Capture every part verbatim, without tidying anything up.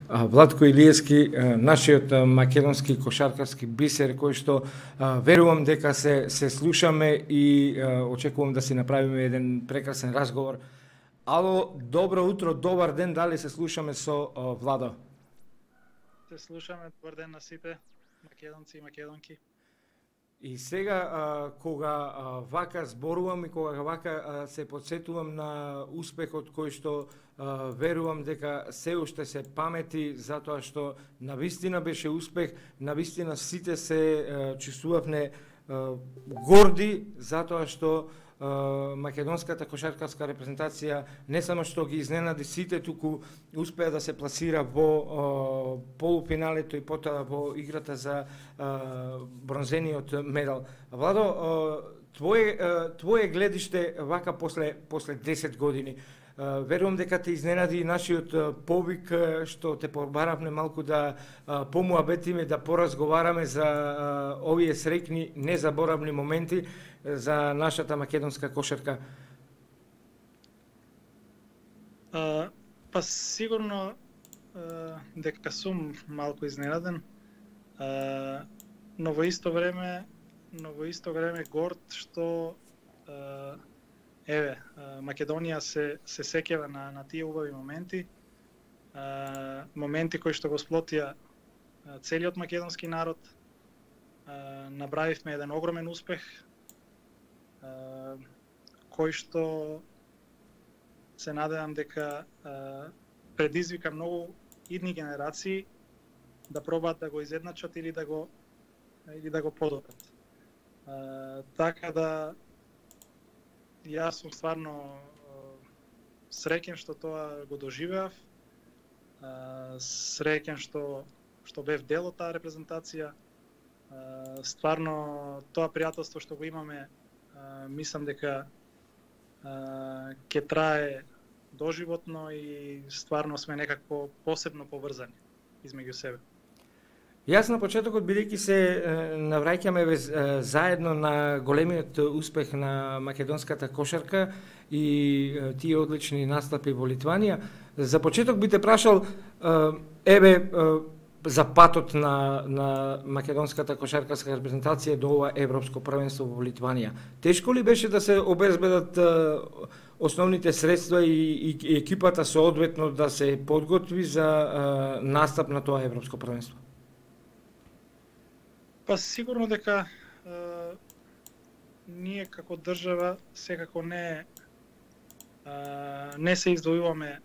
Владко Илиевски, нашиот македонски кошаркарски бисер, кој што верувам дека се се слушаме и очекувам да си направиме еден прекрасен разговор. Ало, добро утро, добар ден, дали се слушаме со Владо? Се слушаме, добар ден на сите македонци и македонки. И сега, а, кога а, вака зборувам и кога вака а, се подсетувам на успехот кој што а, верувам дека се уште се памети, затоа што навистина беше успех, навистина сите се а, чувствувавме а, горди, затоа што а, македонската кошаркарска репрезентација не само што ги изненади сите, туку успеа да се пласира во а, полуфиналето и потоа во играта за а, бронзениот медал. Владо, а, твое а, твое гледиште вака после после десет години. А, верувам дека те изненади нашиот а, повик а, што те побаравме малку да а, помуабетиме, да поразговараме за а, овие среќни незаборавни моменти за нашата македонска кошарка. А, па сигурно а, дека сум малку изненаден, а, но во исто време, но во исто време горд што а, еве Македонија се се сеќава на на тие убави моменти, а, моменти кои што го сплотија целиот македонски народ. А, набравивме еден огромен успех, а, кој што се надевам дека а, предизвика многу идни генерации да пробаат да го изедначат или да го или да го подобрат. А, така да јас сум стварно среќен што тоа го доживеав, а, среќен што што бев дел од таа репрезентација. А, стварно тоа пријателство што го имаме, а, мислам дека а, ќе трае доживотно и стварно сме некако посебно поврзани измеѓу себе. Јас на почетокот, бидејќи се навраќаме заедно на големиот успех на македонската кошарка и тие одлични настапи во Литванија, за почеток би те прашал, еве, за патот на, на македонската кошаркарска репрезентација до ова европско првенство во Литванија. Тешко ли беше да се обезбедат основните средства и, и екипата соодветно да се подготви за настап на тоа европско првенство? Па сигурно дека е, ние како држава секако не е, не се издвојуваме е,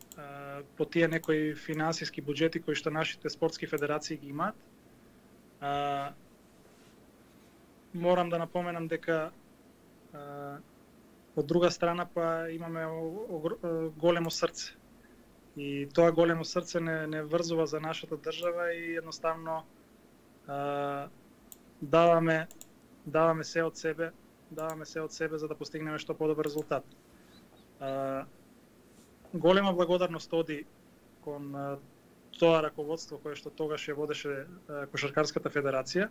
по тие некои финансиски буџети кои што нашите спортски федерации ги имаат. Е, морам да напоменам дека е, од друга страна па имаме големо срце. И тоа големо срце не, не врзува за нашата држава и едноставно е, даваме даваме се од себе, даваме се од себе за да постигнеме што подобар резултат. А, голема благодарност оди кон а, тоа раководство кое што тогаш ја водеше а, Кошаркарската федерација.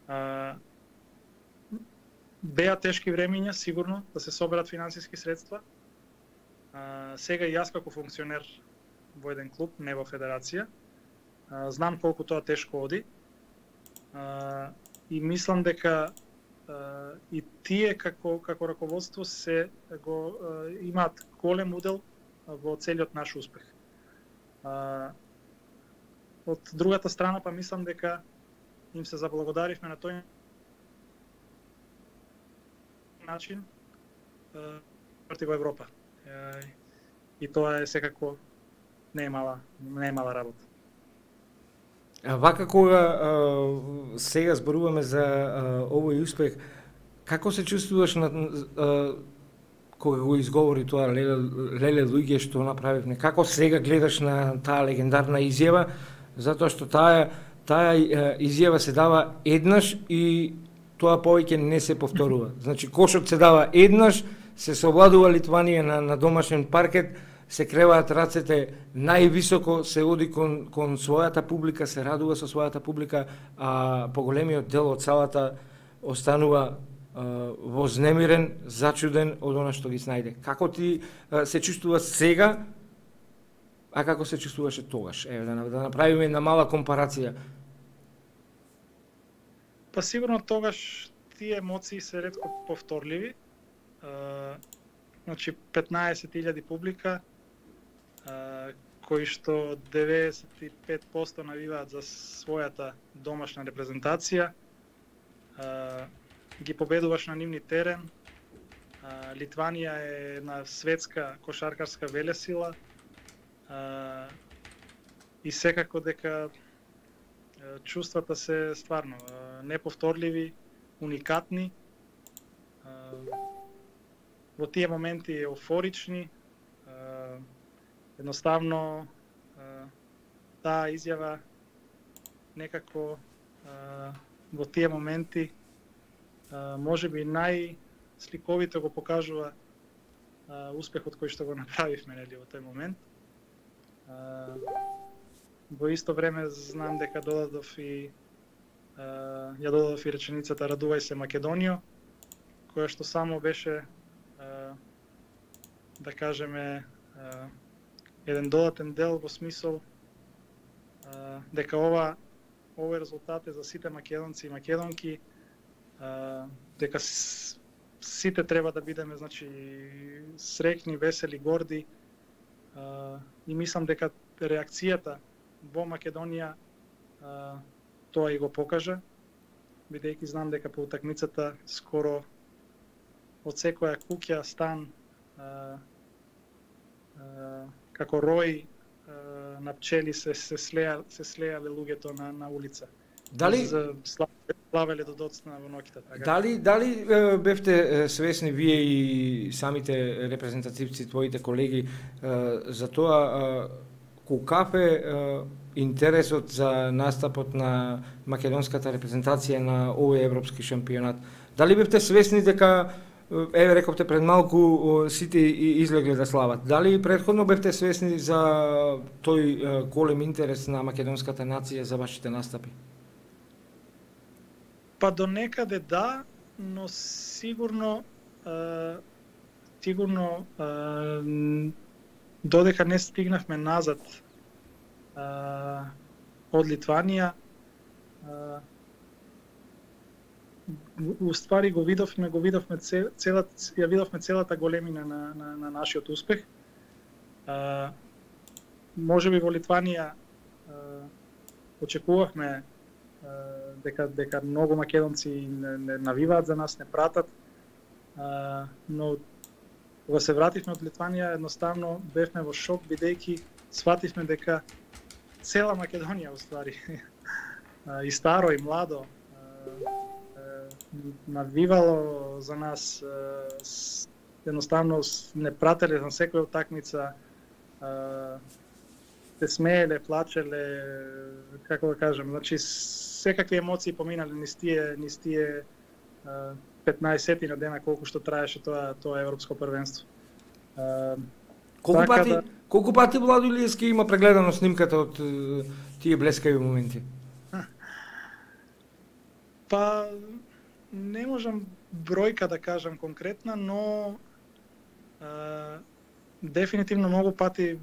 А, беа тешки времиња сигурно да се соберат финансиски средства. А, сега и јас како функционер во еден клуб, не во федерација, а, знам колку тоа тешко оди. Uh, и мислам дека uh, и тие како како раководство се го uh, имаат голем удел во целиот наш успех. Uh, од другата страна па мислам дека им се заблагодаривме на тој начин uh, против Европа. Uh, и тоа е секако не е мала, не е мала работа. Вака кога а, сега зборуваме за а, овој успех, како се чувствуваш на, а, кога го изговори тоа леле, леле луѓе што направивме? Како сега гледаш на таа легендарна изјава, затоа што таа таа изјава се дава еднаш и тоа повеќе не се повторува. Значи кошот се дава еднаш, се совладува Литванија на, на домашен паркет, се креваат рацете највисоко, се оди кон, кон својата публика, се радува со својата публика, а поголемиот дел од салата останува а, вознемирен, зачуден од она што ги снајде. Како ти а, се чувствува сега, а како се чувствуваше тогаш? Еве да, да направиме една мала компарација. Па сигурно тогаш тие емоции се ретко повторливи. А, значи петнаесет илјади публика, а, кои што деветдесет и пет посто навиваат за својата домашна репрезентација. А, ги победуваш на нивни терен. А, Литванија е една светска кошаркарска велесила. А, и секако дека чувствата се стварно неповторливи, уникатни. Во тие моменти еуфорични. Едноставно таа изјава некако во тие моменти можеби најсликовито го покажува успехот кој што го направивме нели во тој момент. Во исто време знам дека додадов и uh, ја додадов и реченицата "Радувај се Македонијо", која што само беше uh, да кажеме uh, еден додатен дел во смисол uh, дека ова овој резултат е за сите македонци и македонки, uh, дека с, сите треба да бидеме значи среќни, весели, горди, uh, и мислам дека реакцијата во Македонија а, тоа и го покажа, бидејќи знам дека по утакмицата скоро од секоја куќа, стан, а, а, како рој а, на пчели се се слеа се слеале луѓето на на улица. Дали славеле до доцна во ноќта, така? Дали дали бевте свесни вие и самите репрезентативци, твоите колеги, за тоа колкафе интересот за настапот на македонската репрезентација на овој европски шампионат? Дали бевте свесни дека, еве рековте пред малку, сите излегле да слават? Дали претходно бевте свесни за тој голем интерес на македонската нација за вашите настапи? Па до некаде да, но сигурно а, сигурно а, додека не стигнавме назад а, од Литванија, а, уствари го видовме, го видовме целата, ја видовме целата големина на, на, на нашиот успех. А, можеби во Литванија а, очекувавме а, дека дека многу македонци не, не навиваат за нас, не пратат, а, но кога се вративме од Литванија, едноставно бевме во шок, бидејќи свативме дека цела Македонија уствари и старо и младо навивало за нас, едноставно не прателе на секоја утакмица, се смееле, плачеле, како да кажем, значи секакви емоции поминале низ тие низ тие петнаесет на дена колку што траеше тоа тоа европско првенство. Колку така пати да... колку пати Владо Илиевски има прегледано снимката од тие блескави моменти? Па не можам бројка да кажам конкретна, но а, дефинитивно многу пати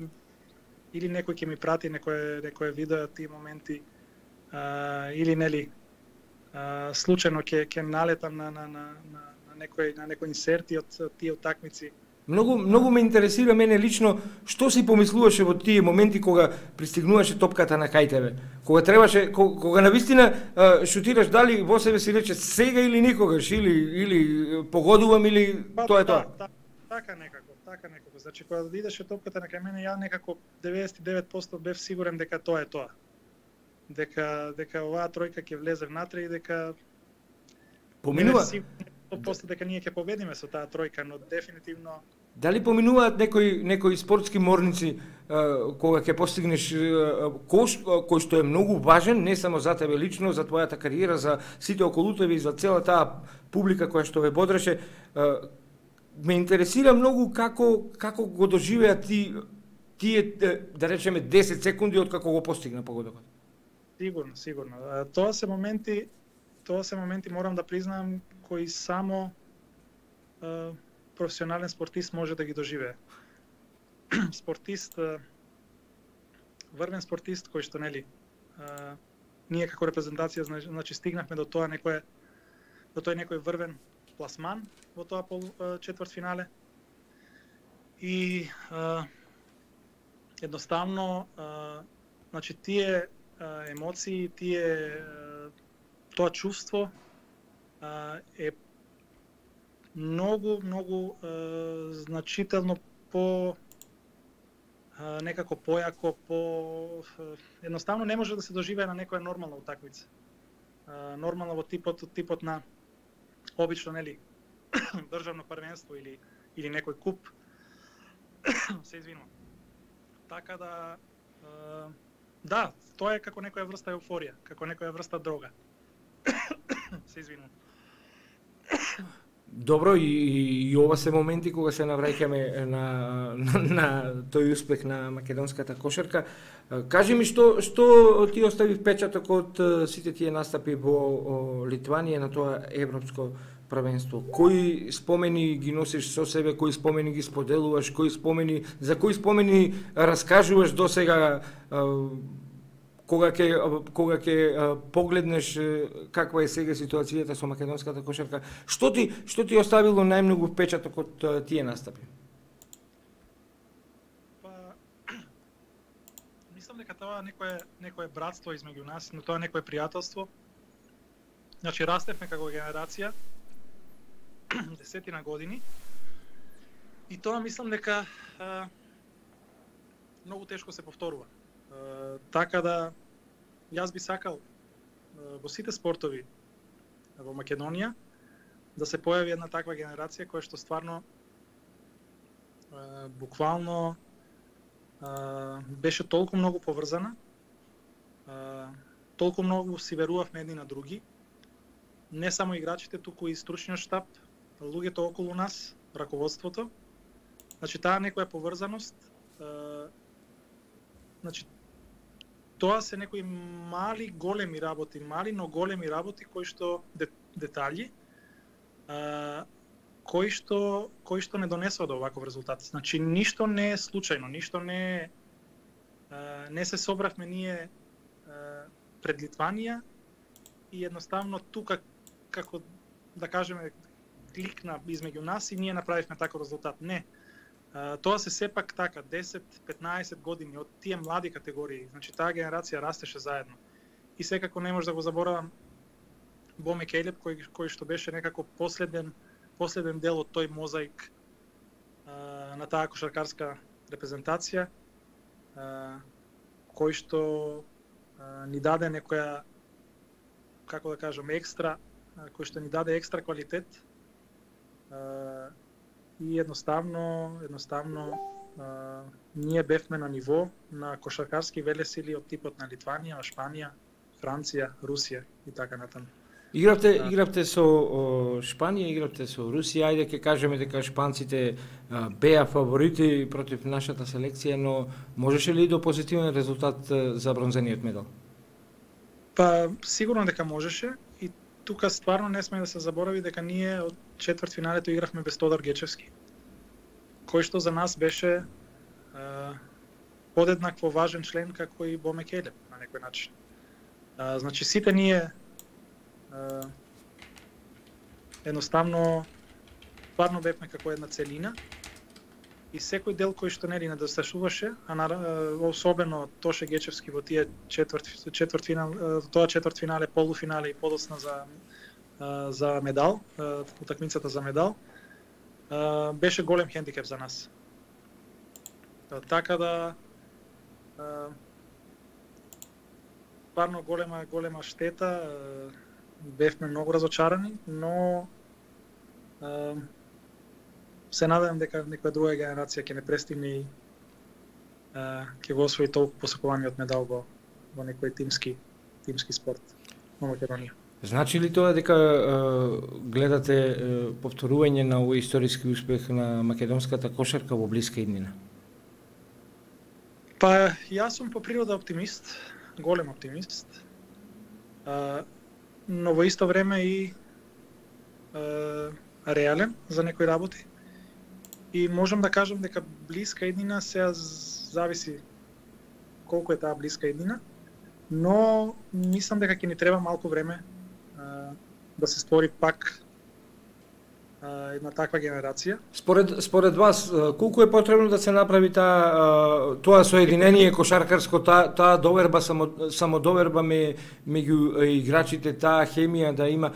или некој ќе ми прати некое некое видео тие моменти, а, или нели а, случајно ќе ќе налетам на на на на на некој на некој инсерти од тие утакмици. Многу многу ме интересира мене лично што си помислуваше во тие моменти кога пристигнуваше топката на кај тебе. Кога требаше кога, кога навистина шутираш, дали во себе си рече сега или никогаш, или или погодувам, или па, тоа е да, тоа. Да, така некако, така некако. Значи кога идеше топката на кај мене, ја некако деветдесет и девет посто бев сигурен дека тоа е тоа. Дека дека оваа тројка ќе влезе внатре и дека поминува после дека ние ќе победиме со таа тројка, но дефинитивно. Дали поминуваат некои некои спортски морници uh, кога ќе постигнеш uh, кош кој што е многу важен не само за тебе лично, за твојата кариера, за сите околу тебе и за цела таа публика која што ве бодреше, uh, ме интересира многу како како го доживеа ти тие да речеме десет секунди од како го постигна погодокот. Сигурно, сигурно. Тоа се моменти, тоа се моменти морам да признам кои само uh, професионален спортист може да ги доживее. Спортист врвен спортист кој што нели а, ние како репрезентација значи стигнавме до тоа некој до тој некој врвен пласман во тоа пол четвртфинале. И а, едноставно а, значи тие а, емоции, тие а, тоа чувство а, е многу многу а, значително по а, некако појако, по едноставно не може да се доживее на некоја нормална утакмица. А, нормално во типот типот на обично нели државно првенство или или некој куп. Се извинувам. Така да да, тоа е како некоја врста еуфорија, како некоја врста дрога. Се извинувам. Добро, и, и ова се моменти кога се навраќаме на, на, на тој успех на македонската кошарка. Кажи ми што што ти остави впечаток од сите тие настапи во Литванија на тоа европско првенство? Кои спомени ги носиш со себе, кои спомени ги споделуваш, кои спомени, за кои спомени раскажуваш досега кога ќе кога ќе погледнеш каква е сега ситуацијата со македонската кошарка? Што ти што ти оставило најмногу впечаток од тие настапи? Па мислам дека тоа некое некое братство измеѓу нас, но тоа некое пријателство. Значи растевме како генерација десетина години. И тоа мислам дека а, многу тешко се повторува. А, така да јас би сакал а, во сите спортови во Македонија да се појави една таква генерација која што стварно а, буквално а, беше толку многу поврзана, а, толку многу си верувавме едни на други, не само играчите, туку и стручниот штаб, луѓето околу нас, раководството. Значи таа некоја поврзаност, а, значи тоа се некои мали големи работи, мали но големи работи кои што детали, а, кои што кои што не донесува до ваков резултат. Значи ништо не е случајно, ништо не е а, не се собравме ние а, пред Литванија и едноставно тука како да кажеме кликна измеѓу нас и ние направивме таков резултат. Не. Uh, тоа се сепак така десет-петнаесет години од тие млади категории. Значи таа генерација растеше заедно. И секако не може да го заборавам Боме Келеб кој кој што беше некако последен последен дел од тој мозаик uh, на таа кошаркарска репрезентација, uh, кој што uh, ни даде некоја, како да кажам, екстра, uh, кој што ни даде екстра квалитет. Uh, И едноставно, едноставно а, ние бевме на ниво на кошаркарски велесили од типот на Литванија, Шпанија, Франција, Русија и така натаму. Игравте, а, игравте со о, Шпанија, игравте со Русија, ајде ќе кажеме дека шпанците а, беа фаворити против нашата селекција, но можеше ли до позитивен резултат а, за бронзениот медал? Па сигурно дека можеше и тука стварно не сме да се заборави дека ние од четвртфиналето игравме без Тодор Гечевски, кој што за нас беше а, подеднакво важен член како и Боме Келеб на некој начин. А, значи сите ние а, едноставно стварно бевме како една целина и секој дел кој што нели недосташуваше, а на, особено Тоше Гечевски во тие четврт четвртфинал, тоа четвртфинале, полуфинале и подоцна за за медал, утакмицата за медал, беше голем хендикеп за нас. Така да парно голема голема штета, бевме многу разочарани, но се надевам дека некоја друга генерација ќе не престигне и ќе го освои толку посакуваниот медал во во некој тимски тимски спорт во Македонија. Значи ли тоа дека е, гледате е, повторување на овој историски успех на македонската кошарка во блиска иднина? Па јас сум по природа оптимист, голем оптимист. А, но во исто време и а, реален за некои работи. И можам да кажам дека блиска иднина се зависи колку е таа блиска иднина, но мислам дека ќе ни треба малку време а, да се створи пак а, една таква генерација. Според според вас колку е потребно да се направи таа тоа соединение кошаркарско, таа таа доверба само самодоверба меѓу играчите, таа хемија да има?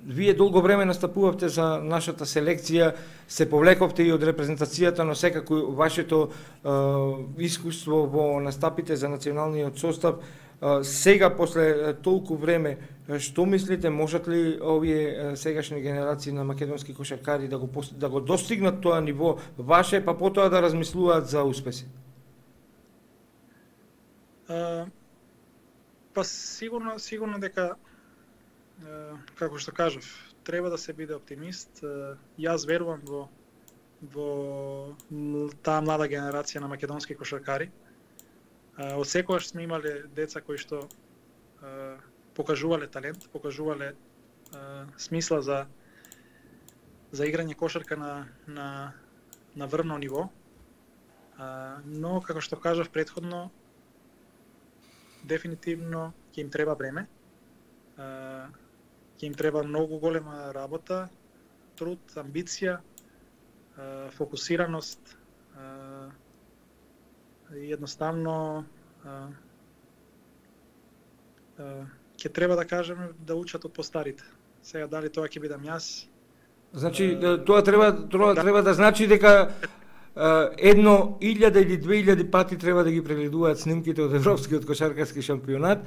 Вие долго време настапувавте за нашата селекција, се повлековте и од репрезентацијата, но секако вашето е, искуство во настапите за националниот состав, е, сега после толку време, што мислите, можат ли овие сегашни генерации на македонски кошаркари да го да го достигнат тоа ниво ваше, па потоа да размислуваат за успеси? Uh, па сигурно сигурно дека како што кажав, треба да се биде оптимист. Јас верувам во во таа млада генерација на македонски кошаркари. Од секогаш сме имале деца кои што покажувале талент, покажувале смисла за за играње кошарка на на на врвно ниво. Но како што кажав претходно, дефинитивно ќе им треба време. Ќе им треба многу голема работа, труд, амбиција, фокусираност и едноставно ќе треба да кажеме да учат од постарите. Сега дали тоа ќе бидам јас? Значи тоа треба тоа треба да значи дека едно илјада или две илјади пати треба да ги прегледуваат снимките од европскиот кошаркарски шампионат.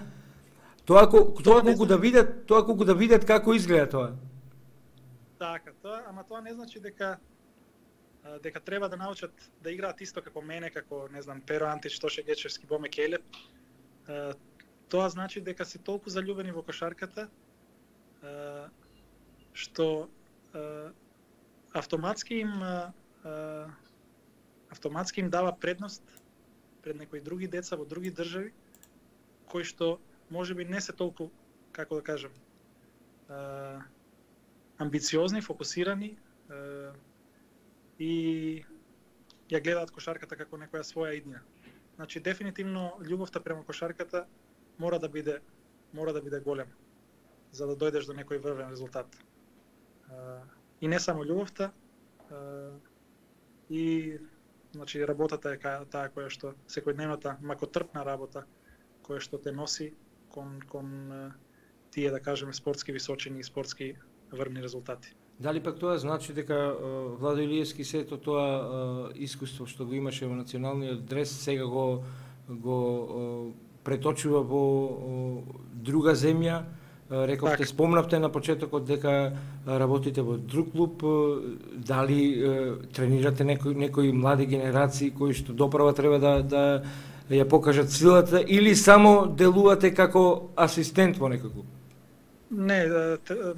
Тоа колку тоа колку да видат, тоа колку да видат како изгледа тоа. Така, тоа, ама тоа не значи дека дека треба да научат да играат исто како мене, како не знам Перо Антич, Тоше Гечевски, Боме Келеп. Тоа значи дека се толку заљубени во кошарката што автоматски им автоматски им дава предност пред некои други деца во други држави кои што можеби не се толку, како да кажам, амбициозни, фокусирани и ја гледаат кошарката како некоја своја иднина. Значи дефинитивно љубовта према кошарката мора да биде мора да биде голема за да дојдеш до некој врвен резултат. И не само љубовта, и значи работата е таа која што секојдневната макотрпна работа која што те носи кон кон тие, да кажеме, спортски височини и спортски врвни резултати. Дали пак тоа значи дека Владо Илиевски сето тоа искуство што го имаше во националниот дрес сега го го преточува во друга земја? Рековте, так. Спомнавте на почетокот дека работите во друг клуб, дали тренирате некои некои млади генерации кои што доправа треба да да ја покажат силата или само делувате како асистент во некој клуб? Не,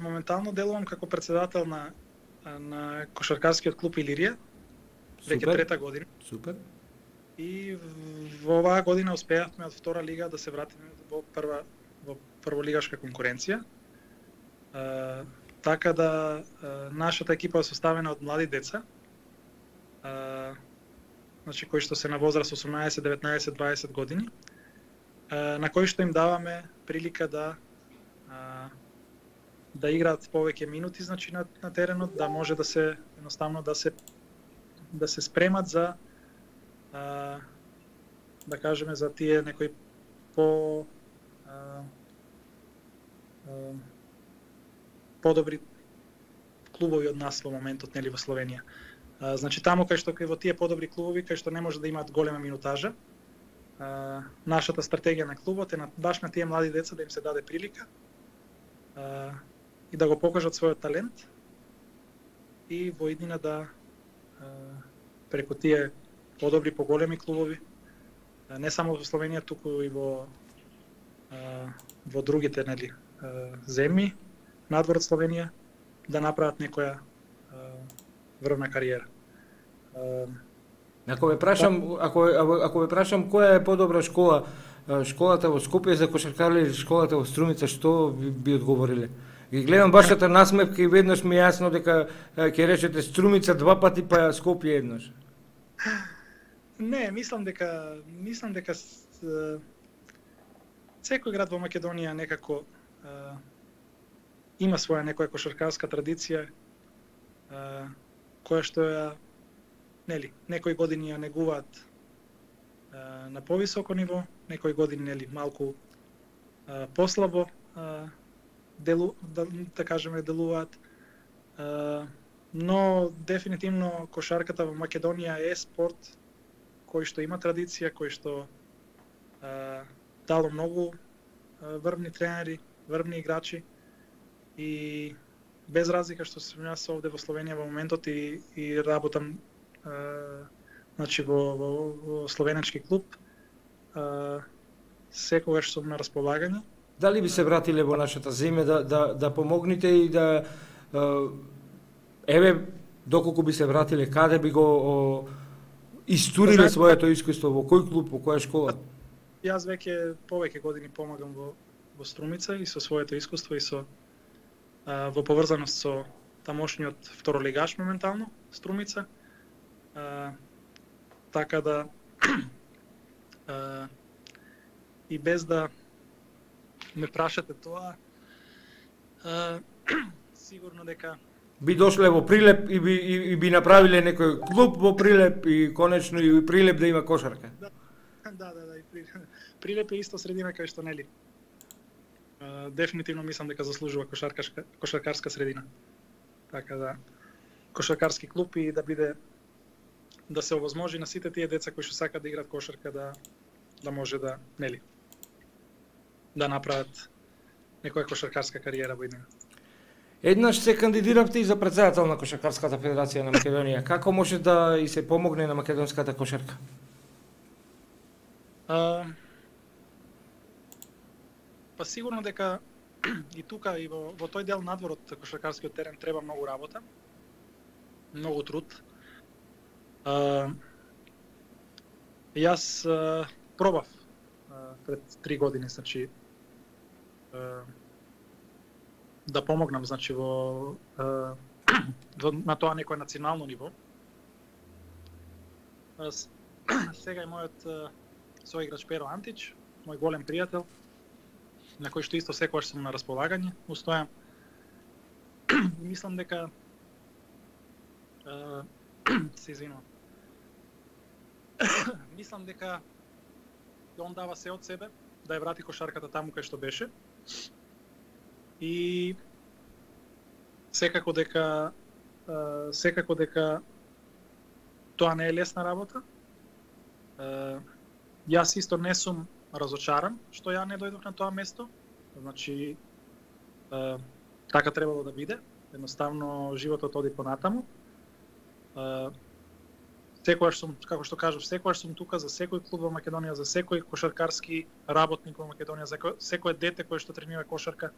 моментално делувам како председател на на кошаркарскиот клуб Илирија, веќе трета година. Супер. И во оваа година успеавме од втора лига да се вратиме во прва во прволигашка конкуренција. А, така да а, нашата екипа е составена од млади деца. А, значи кои што се на возраст осумнаесет, деветнаесет, дваесет години. А, на кои што им даваме прилика да а, да играат повеќе минути, значи на, на теренот, да може да се едноставно да се да се спремат за а, да кажеме за тие некои по а, а, подобри клубови од нас во моментот, нели, во Словенија. А, значи таму кај што кај во тие подобри клубови кај што не може да имаат голема минутажа, а, нашата стратегија на клубот е на, баш на тие млади деца да им се даде прилика а, и да го покажат својот талент и во иднина да а, преку тие подобри, поголеми клубови, а, не само во Словенија, туку и во а, во другите, нели, а, земји надвор од Словенија, да направат некоја а, врвна кариера. А, ако ве прашам, ако ако ве прашам која е подобра школа, школата во Скопје за кошаркари или школата во Струмица, што би, би одговориле? Ги гледам вашата насмевка и веднаш ми е јасно дека ќе речете Струмица два пати, па Скопје еднаш. Не, мислам дека мислам дека с, секој град во Македонија некако а, има своја некоја кошаркарска традиција а, која што ја нели некои години ја негуваат а, на повисоко ниво, некои години нели малку а, послабо а, делу да, да кажеме делуваат. А, но дефинитивно кошарката во Македонија е спорт кој што има традиција, кој што а, дало многу а, врвни тренери, врвни играчи и без разлика што сум јас овде во Словенија во моментот и, и работам а, значи во, во, во словенечки клуб, а, секогаш сум на располагање. Дали би се вратиле во нашата земја да, да, да помогнете и да еве доколку би се вратиле, каде би го о, истуриле Знаете, своето искуство, во кој клуб, во која школа? Јас веќе повеќе години помагам во, во Струмица и со своето искуство и со а, во поврзаност со тамошниот второлигаш моментално, Струмица. А, така да а, и без да ме прашате тоа, а, сигурно дека Би дошле во Прилеп и би, и, и би направиле некој клуб во Прилеп и конечно и Прилеп да има кошарка. Да, да, да, да и Прилеп, Прилеп е исто средина кај што нели. Uh, дефинитивно мислам дека заслужува кошаркарска кошаркарска средина. Така да кошаркарски клуб и да биде да се овозможи на сите тие деца кои што сакаат да играат кошарка да да може да нели да направат некоја кошаркарска кариера во иднина. Еднаш се кандидиравте и за претседател на Кошаркарската федерација на Македонија. Како може да и се помогне на македонската кошарка? А, па сигурно дека и тука и во, во тој дел надвор од кошаркарскиот терен треба многу работа, многу труд. А, јас а, пробав а, пред три години, значи а, да помогнам, значи во, а, во на тоа некој национално ниво. А, сега е мојот а, соиграч Перо Антич, мој голем пријател, на кој што исто секогаш сум на располагање, устојам. Мислам дека а, се извинувам. Мислам дека он дава се од себе да ја врати кошарката таму кај што беше. И секако дека а, секако дека тоа не е лесна работа. А, јас исто не сум разочаран што ја не дојдов на тоа место. Значи а, така требало да биде. Едноставно животот оди понатаму. А, секогаш сум, како што кажав, секогаш сум тука за секој клуб во Македонија, за секој кошаркарски работник во Македонија, за секое дете кое што тренира кошарка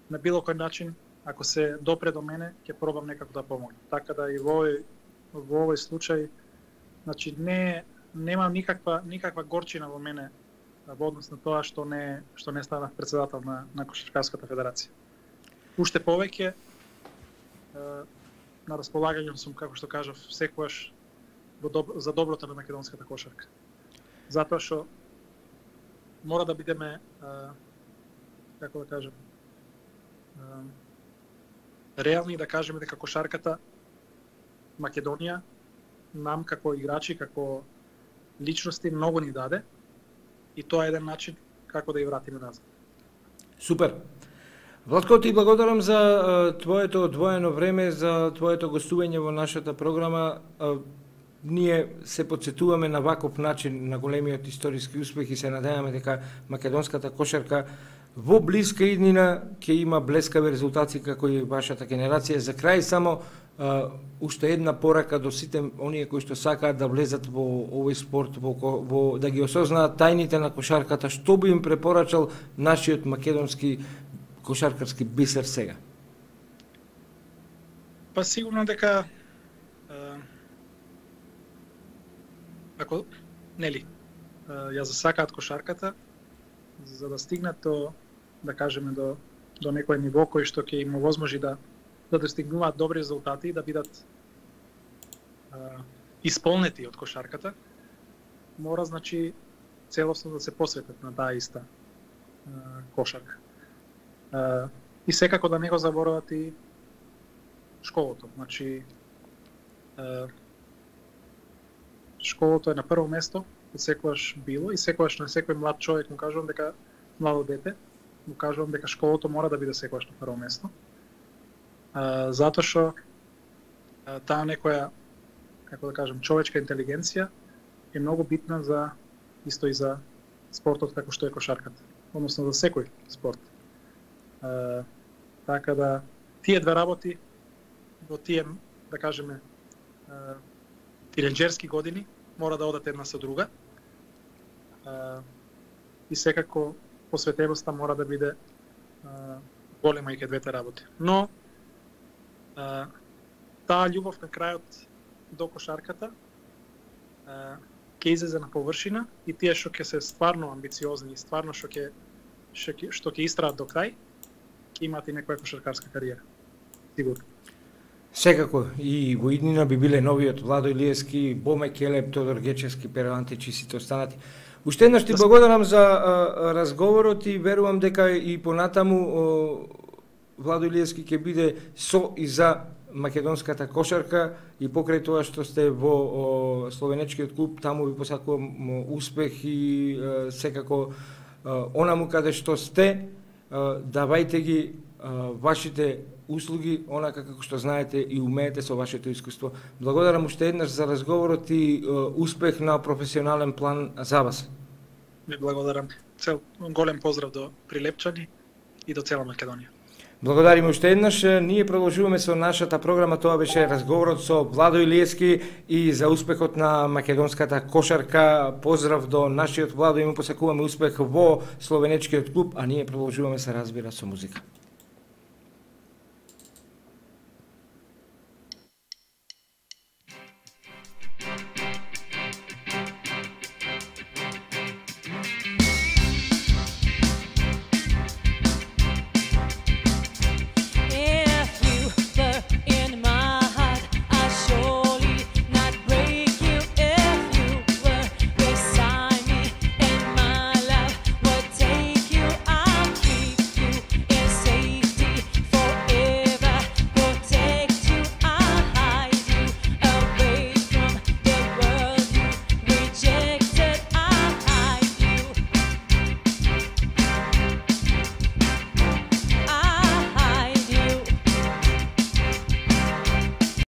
на било кој начин, ако се допре до мене, ќе пробам некако да помогнам. Така да и во овој во овој случај, значи не нема никаква никаква горчина во мене во однос на тоа што не што не станав претседател на на Кошаркарската федерација. Уште повеќе на располагање сум, како што кажав, секогаш во доб, за доброто на македонската кошарка. Затоа што мора да бидеме а, како да кажам а, реални да кажеме дека кошарката Македонија нам како играчи, како личности многу ни даде и тоа е еден начин како да ја вратиме назад. Супер. Владко, ти благодарам за а, твоето одвоено време, за твоето гостување во нашата програма. А, ние се подсетуваме на ваков начин на големиот историски успех и се надеваме дека македонската кошарка во блиска иднина ќе има блескави резултати како и вашата генерација. За крај само а, уште една порака до сите оние кои што сакаат да влезат во овој спорт, во, во да ги осознаат тајните на кошарката, што би им препорачал нашиот македонски кошаркарски бисер сега? Па сигурно дека ако нели ја засакаат кошарката за да стигнат до, да кажеме, до до некој ниво кој што ќе им овозможи да да достигнуваат добри резултати и да бидат а, исполнети од кошарката, мора значи целосно да се посветат на таа иста кошарка. И секако да не го заборават и школото. Значи школото е на прво место, секогаш било и секогаш на секој млад човек му кажувам дека младо дете, му кажувам дека школото мора да биде секогаш на прво место. Затоа што таа некоја, како да кажем, човечка интелигенција е многу битна за исто и за спортот како што е кошарката, односно за секој спорт. Uh, така да тие две работи во тие, да кажеме, uh, тинеџерски години мора да одат една со друга. Uh, и секако посветеността мора да биде uh, голема и ке двете работи. Но uh, таа љубов на крајот до кошарката uh, ќе излезе на површина и тие што ќе се стварно амбициозни и стварно што ќе што ќе истраат до крај, ќе имаат и некоја кошаркарска кариера. Сигурно. Секако и во иднина би биле новиот Владо Илиевски, Боме Келеб, Тодор Гечевски, Перо Антич и сите останати. Уште еднаш ти благодарам за а, разговорот и верувам дека и понатаму о, Владо Илиевски ќе биде со и за македонската кошарка и покрај тоа што сте во о, словенечкиот клуб, таму ви посакувам успех и а, секако а, онаму каде што сте, а, давајте ги а, вашите услуги, онака како што знаете и умеете со вашето искуство. Благодарам уште еднаш за разговорот и а, успех на професионален план за вас. Ви благодарам. Цел голем поздрав до Прилепчани и до цела Македонија. Благодариме уште еднаш. Ние продолжуваме со нашата програма. Тоа беше разговорот со Владо Илиевски и за успехот на македонската кошарка. Поздрав до нашиот Владо и му посакуваме успех во словенечкиот клуб, а ние продолжуваме се разбира со музика.